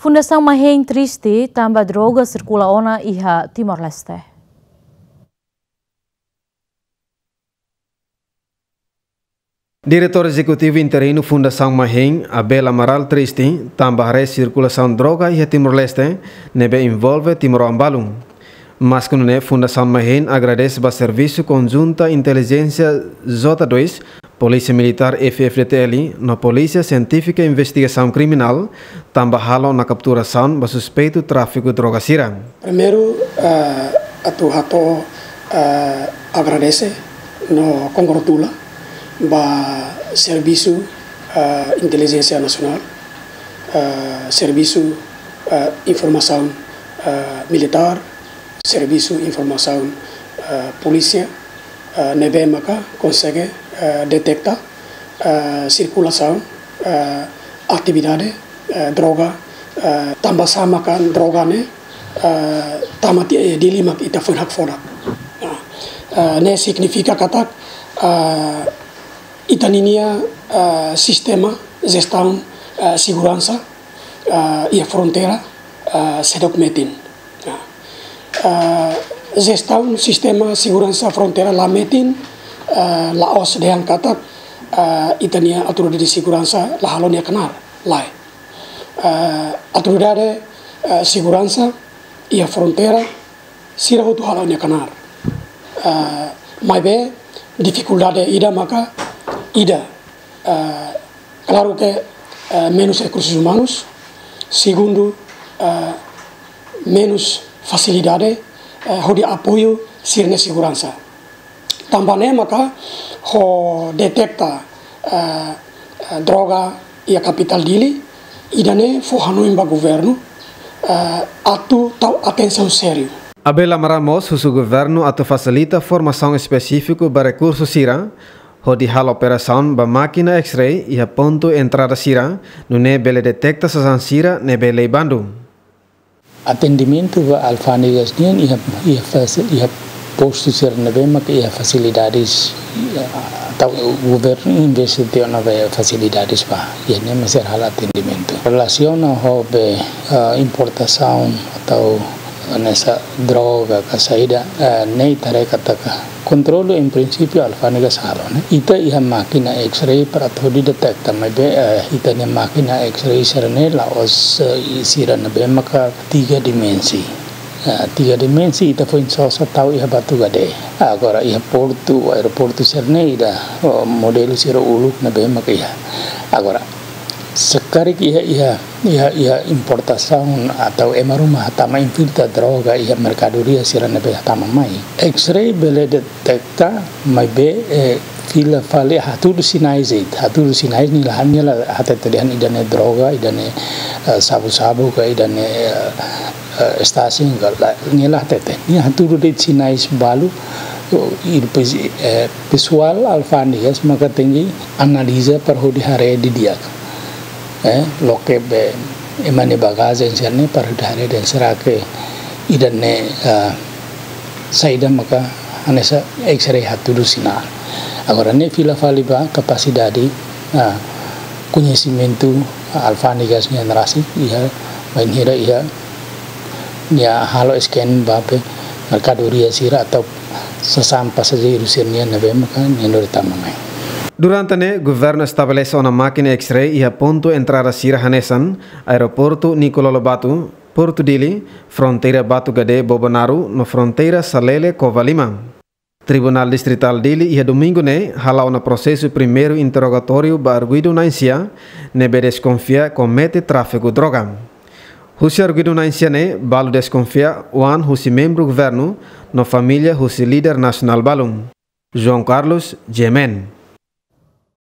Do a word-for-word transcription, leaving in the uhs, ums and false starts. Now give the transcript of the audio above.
Fundasaun Mahein triste tanba droga sirkula ona iha Timor-Leste. Diretór Ezekutivu Interinu Fundasaun Mahein, Abel Amaral, triste tanba haree sirkulasaun droga iha Timor-Leste, ne'ebé envolve timoroan balu. Maske nune'e, Fundasaun Mahein agradese ba servisu konjunta intelijénsia J dois, Polísia Militár F-FDTL no Polísia Sientífika Investigasaun Kriminál, tanba halo ona kapturasaun ba suspeitu tráfiku droga sira. Primeiru, eh, atu hato'o, eh, agradese no kongratula ba servisu, eh, intelijénsia nasionál, eh, servisu, eh, informasaun, eh, militár, servisu informasaun, eh, polísia, eh, ne'ebé maka konsege, eh, deteta, eh, sirkulasaun, eh, atividade, eh, droga, eh, tanba sá maka droga ne'e, eh, tama tiha iha Dili mak ita foin hakfodak. Nah, eh, ne'e signifika katak, eh, ita ninia, eh, sistema jestaun, eh, seguransa, eh, iha fronteira, eh, seidauk metin. Nah, eh, jestaun sistema seguransa fronteira la metin, eh, la'ós dehan katak, eh, ita-nia autoridade seguransa la halo nia knaar, lae. Eh, autoridade, eh, seguransa iha fronteira sira hotu halo nia knaar. Eh, maibé difikuldade ida maka ida, eh, klaru ke, eh, menus rekursus umanus, segundu, eh, menus fasilidade, eh, hodi apoiu sira-nia seguransa. Tanba ne'e maka ho deteta, eh, eh, droga iha kapitál Dili, ida-ne'e fó hanoin ba governu, eh, atu tau atensaun sériu. Abel Amaral mós husu governu atu fasilita formasaun espesífiku ba rekursu sira, hodi halo operasaun ba mákina X-ray iha pontu entrada sira, nune'e bele deteta sasán sira ne'ebé lei bandu. Atendimentu ba alfándegas nian iha, iha fase, iha postu sira ne'ebé maka iha fasilidades, iha, tau governu investe tiha ona ba fasilidades ba, iha ne'e mak sira halo atendimentu. Relasiona ho be, eh, importasaun atu hanesan droga ka saida, eh, ne'e ita haree katak kontrolu en prinsípiu alfándegas halo, ne'e. Ita iha mákina X-ray para atu hodi deteta, maibé, eh, ita-nia mákina X-ray sira-ne'e la'ós, eh, sira ne'ebé maka tiga dimensi. Eh, tiga dimensi ita foin sosa tau iha Batugade. Agora iha portu, aeroportu sira-ne'e ida, oh, modelu sira uluk ne'ebé maka iha. Agora, se karik iha, iha, iha, iha importasaun atu ema ruma tama infiltra droga iha merkadoria sira ne'ebé tama mai. X-ray bele deteta, maibé, eh, fila fali hatudu sinais de'it, hatudu sinais nia la, nia la hatete dehan ida-ne'e droga, ida-ne'e, eh, sabu-sabu ka ida-ne'e, eh, eh, estasin ka lae, nia la hatete. Nia hatudu de'it sinais balu, oh, i depois, eh, pesoál alfándegas maka tenke analiza para hodi haree didi'ak. Eh, loke be ema nia bagajen sira-ne'e para hodi haree dehan será que ida-ne'e, ah, saida maka hanesan X-ray hatudu sinál. Agora ne'e fila fali ba kapasidade, ah, koñesimentu alfándegas nian rasik iha, bainhira iha nia halo scan ba be merkadoria sira atu sasán pasajeiru sira-nian ne'ebé maka nia lori tama mai. Durante ne'e, governu estabelese ona mákina X-ray iha pontu entrada sira hanesan aeroportu Nicolau Lobato, Portu Dili, fronteira Batugade Bobonaro, no fronteira Salele Covalima. Tribunál Distritál Dili iha domingu ne'e hala'o ona prosesu primeiru interrogatóriu ba arguidu na'in-sia, ne'ebé deskonfia komete tráfiku droga. Husi arguidu na'in-sia ne'e, balu deskonfia oan husi membru governu, no família husi líder nasionál balu. João Carlos, G M N.